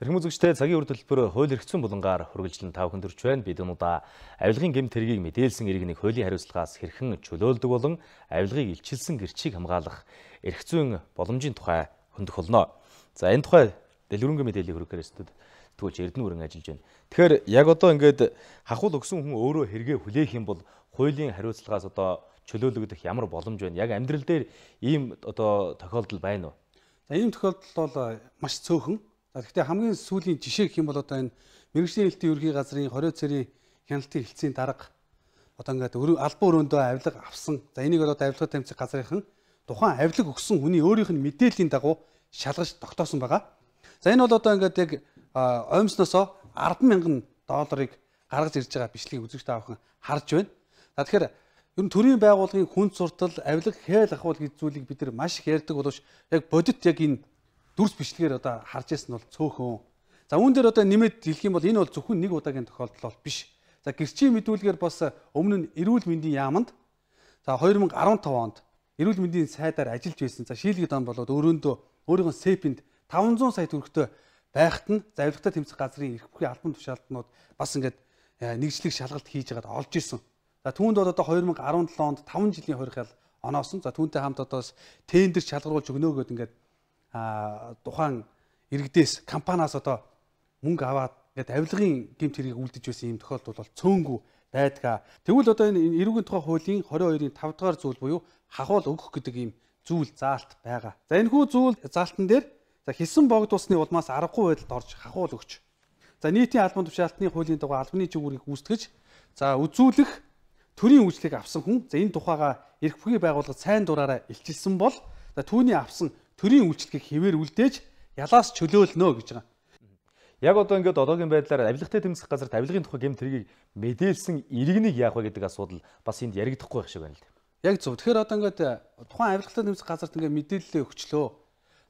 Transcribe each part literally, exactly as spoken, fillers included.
Эрхэм үзэгчдээ цагийн үр төлбөр хууль эрх зүйн булангаар хүргэлжлэн тав хүндэрч байна. Бид өнөөдөр авилгын гэмт хэргийг мэдээлсэн иргэнийг хуулийн хариуцлагаас хэрхэн чөлөөлдөг болон авилгыг илчилсэн гэрчийг хамгаалах эрх зүйн боломжийн тухай хөндөх болно. За энэ тухай дэлгэрэнгүй мэдээллийг хүргэхээр студид төгөлж Эрдэнэ хүрэн ажиллаж байна. Тэгэхээр яг одоо ингээд хахуул өгсөн хүн өөрөө хэрэгээ хүлээх юм бол хуулийн хариуцлагаас одоо чөлөөлөгдөх ямар боломж байна? Яг амьдрал дээр ийм одоо тохиолдол байна уу? За ийм тохиолдол бол маш цөөхөн. Гэхдээ хамгийн сүүлийн жишээ гэх юм бол одоо энэ мэргэжлийн хэлтийн ерхий газрын хорио цэрийн хяналтын хэлтсийн дарга одоо ингээд албан өрөөндөө авилга авсан. За энийг одоо авилга тамирчид газрынхан тухайн авилга өгсөн хүний өөрийнх нь мэдээллийн дагуу шалгаж тогтоосон байгаа. За энэ бол одоо ингээд яг оймсноосоо арван мянган долларыг гаргаж ирж байгаа бичлэгийг үзэгч таавхан харж байна. За тэгэхээр ер нь төрийн байгууллагын хүнд суртал авилга хээл ахуул гэж зүйлийг бид нар маш их ярьдаг боловч яг бодит яг энэ дүрс бичлэгээр одоо харж ирсэн бол цөөхөн. За үүн дээр одоо нэмээд хэлэх юм бол энэ бол зөвхөн нэг удаагийн тохиолдол бол биш. За гэрчийн мэдүүлгээр бас өмнө нь эрүүл мэндийн яамд за хоёр мянга арван тав онд эрүүл мэндийн сайдаар ажиллаж байсан. За шийлгэд он болоод өрөөндөө өөрийнхөө сэпэнд таван зуун сая төгрөгтэй байхад нь за авилгатай тэмцэх газрын эрх бүхий албан тушаалтнууд бас ингээд нэгжлэг шалгалт хийж байгаад олж ирсэн. За түүнд бол одоо хоёр мянга арван долоо онд таван жилийн хорих ял оноосон. За түүнтэй хамт одоо тендер шалгаруулж өгнөөгөөд ингээд тухайн иргэдээс компаниас одоо мөнгө аваад ингээд авилгын гэмт хэргийг үлдэж байсан юм тохиолдол бол цөөнгүй байдаг. Тэгвэл одоо энэ эрүүгийн тухай хуулийн двадцать хоёрын тавь дахь зүйл буюу хахуул өгөх гэдэг ийм зүйл заалт байгаа. За энэ хүү зүйл заалтан дээр за хэлсэн богд усны улмаас аргагүй байдалд орж хахуул өгч. За нийтийн албан тушаалтны хуулийн дагуу албаны чигүүрийг гүйцэтгэж за үзүүлэх төрийн үйлчлэгийг авсан хүн за энэ тухайга эрх бүхий байгууллага сайн дураараа илчилсэн бол за түүний авсан төрийн үйлчлэгийг хэвээр үлдээж ялаас чөлөөлнө гэж байгаа. Яг одоо ингээд одоогийн байдлаар авилгатай тэмцэх газарт авилгын тухай гэмт хэргийг мэдээлсэн иргэнийг яах вэ гэдэг асуудал бас энд яригдахгүй байх шиг байна л дээ. Яг зөв. Тэгэхээр одоо ингээд тухайн авилгатай тэмцэх газарт ингээд мэдээлэлээ өгчлөө.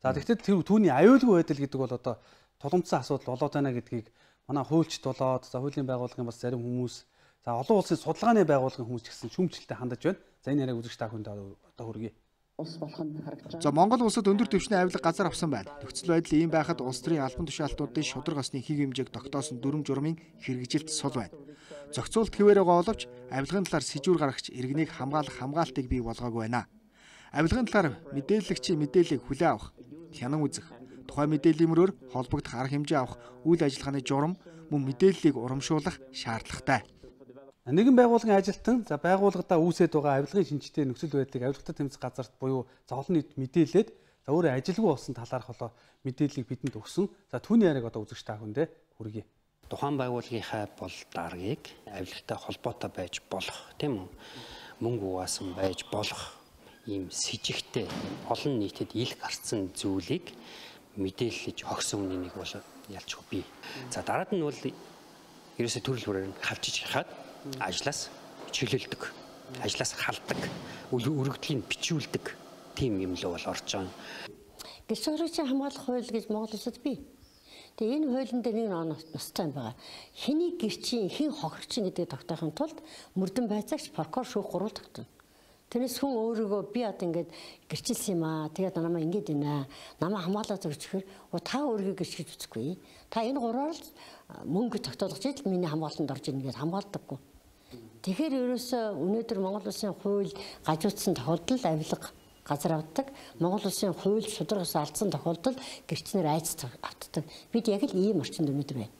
За тэгэхээр тэр түүний аюулгүй байдал гэдэг бол одоо тулгымдсан асуудал болоод байна гэдгийг манай хуульчд болоод за хуулийн байгууллагын бас зарим хүмүүс за олон улсын судалгааны байгууллагын хүмүүс ч гэсэн шүүмжлэлтэй хандаж байна. За энэ яриаг үзэгч та хүнд одоо хүргэе. Ус болох нь харагдаж байна. За Монгол улсад өндөр түвшний авилга газар авсан байна. Нөхцөл байдал ийм байхад улс төрийн албан тушаалтнуудын шударга осны хийг хэмжээг тогтоосон дүрм журмын хэрэгжилт сул байна. Зохицуулт хэвээр байгаа боловч авилгын талаар сэжүүр гаргаж иргэнийг хамгаалах хамгаалтыг бий болгоогүй байна. Авилгын талаар мэдээлэгчийн мэдээллийг хүлээн авах, хянан үзэх, тухайн мэдээллийн мөрөөр холбогдох арга хэмжээ авах үйл ажиллагааны журам мөн мэдээллийг урамшуулах шаардлагатай. Нэгэн байгууллагын ажилтан за байгууллагадаа үүсээд байгаа авилгын шинжтэй нөхцөл байдлыг авилгатай тэмцэх газарт буюу за олон нийт мэдээлээд за өөрөө ажилгүй болсон талаарх болоо мэдээллийг бидэнд өгсөн. За түүний яриаг одоо үзэгч та хүндээ хүргэе. Тухайн байгууллагынхаа бол даргаыг авилгатай холбоотой байж болох тийм үү? Мөнгө угаасан байж болох ийм сэжигтэй олон нийтэд ил гарцсан зүйлийг мэдээлж хогсон үнийг бол ялчгүй бий. За дараад нь бол ерөөсө төрөл бүрээр хавчиж хахад ажлаас чөлөөлдөг, ажлаас халдаг, өргөдлийн бичүүлдэг тийм юм л бол орж байгаа. Гэрч сургуулийн хамгаалах хууль гэж Монгол улсад бий. Тэгээ энэ хуулийн дээр нэг ностой байгаа. Хэний гэрчийн, хэн хохирчин гэдгийг тогтоохын тулд мөрдөн байцаагч прокурор шүүх гурвал тогтно. Тэрнээс хүн өөрийгөө би одоо ингээд гэрчилсэн юм аа. Тэгээд намаа ингэж байна. Намаа хамгаалаад өгчихөр та өөрийгөө гэрч гэж үзэхгүй. Та энэ гурваар л мөнгө тогтоолгож ижил миний хамгаалтанд орж ирнэ гэж хамгаалдаггүй. Тэгэхээр ерөөсөө өнөөдөр Монгол улсын хууль гажуудсан тохиолдолд авилга газар авдаг, Монгол улсын хууль шударгаас алдсан тохиолдолд гэрчнэр айц автдаг. Бид яг л ийм орчинд өнөөдөр байна.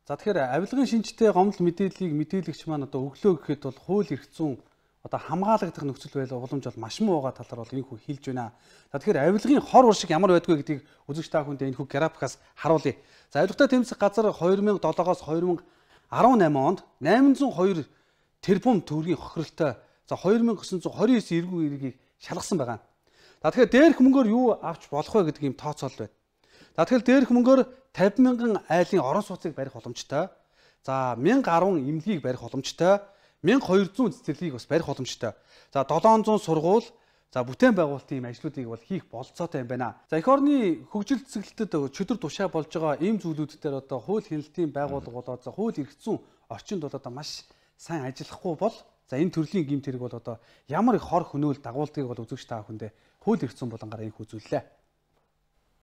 За тэгэхээр авилгын шинжтэй гомдол мэдээллийг мэдээлэгч маань одоо өглөө гэхэд бол хууль эрх зүйн одоо хамгаалагдах нөхцөл байдал уламж бол маш муу байгаа талаар бол энэ хүү хэлж байна. За тэгэхээр авилгын хор уршиг ямар байдгүй гэдгийг үзэгч та хүндээ энэ хүү графикаас харуулъя. За авилгатай тэмцэх газар хоёр мянга долоогоос хоёр мянга арван намын онд найман зуун хоёр тэрбум төгрөгийн хохиролтой за хоёр мянга девятьсот двадцать девять эргүү иргэгийг шалгасан байгаа. За тэгэхээр дээрх мөнгөөр юу авч болох вэ гэдэг ийм тооцоол байна. За тэгэхээр дээрх мөнгөөр тавь мянган айлын орон сууцыг барих боломжтой. За мянга арван эмнэлгийг барих боломжтой. мянга хоёр зуун цэцэрлэгийг бас барих боломжтой. За долоон зуун сургууль за бүтээн байгуулалтын ийм ажлуудыг бол хийх болцоотой юм байна. За эх орны хөгжил цэцэглэлтэд чөдөр тушаа болж байгаа ийм зүйлүүд дээр одоо хууль хяналтын байгууллага болоод за хууль эрх зүйн орчинд бол одоо маш сайн ажиллахгүй бол за энэ төрлийн гэмт хэрэг бол одоо ямар их хор хөнөөл дагуулдгийг бол үзэгч та бүхэндээ хууль эрх зүйн булангаар энэ үзүүллээ.